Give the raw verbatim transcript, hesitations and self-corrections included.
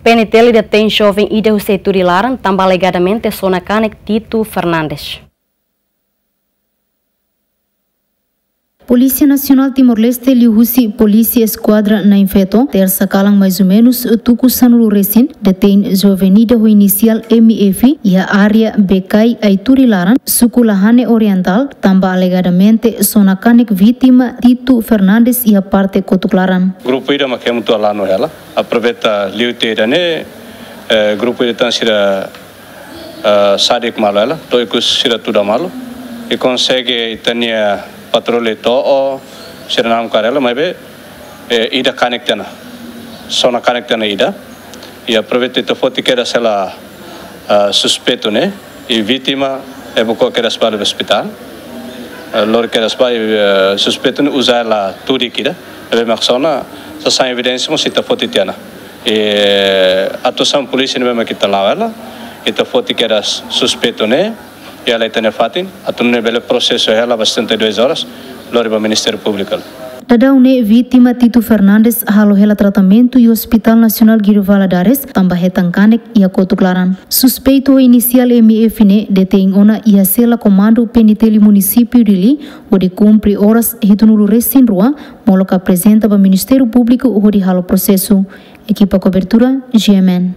P N T L detein joven ida husi Aituri laran tanba alegadamente sona kanek Tito Fernandes. Polísia Nasionál Timor-Leste liuhusi Polísia Eskuadra Na'in Feto, tersa kalan mais ou menus tuku sanulu resin, detein joven ida ho inisiál M F iha área Bekai Aituri laran, suku Lahane Orientál, tanba alegadamente sona kanek vítima Tito Fernandes iha parte kotuk laran. Grupu ida mak ema atu hala'o hela. Aproveita liu tiha ida-ne'e, eh, grupu ida tan sira, eh, sadik malu hela, to'o ikus sira tuda malu. I konsege ita-nia patrulla to'o, sira namkar hela, maibé, eh, ida kanek tiha ona. Sona kanek tiha ona ida. I aproveita ita foti kedas hela, eh, suspeitu ne'e, i vítima, eh, bele kedas ba ospitál. Eh, lori kedas ba, eh, suspeitu ne'e uza hela tudik ida. Ne'ebé mak sona, sasán evidénsia mós ita foti tiha ona. Eh, atuasaun polísia ne'ebé mak ita la'o hela, ita foti kedas suspeitu ne'e, iha ita-nia fatin, atu nune'e bele prosesu hela ba setenta e duas horas, lori ba Ministériu Públiku. Daudaun ne'e vítima Tito Fernandes halo hela tratamentu iha Hospital Nasionál Guido Valadares, tanba hetan kanek iha kotuk laran. Suspeitu ho inisiál M F ne'e detein ona iha sela komandu P N T L Munisípiu Dili, hodi kumpre oras hitunulu resin rua, molok aprezenta ba Ministériu Públiku hodi halo prosesu. Ekipa kobertura, G M N.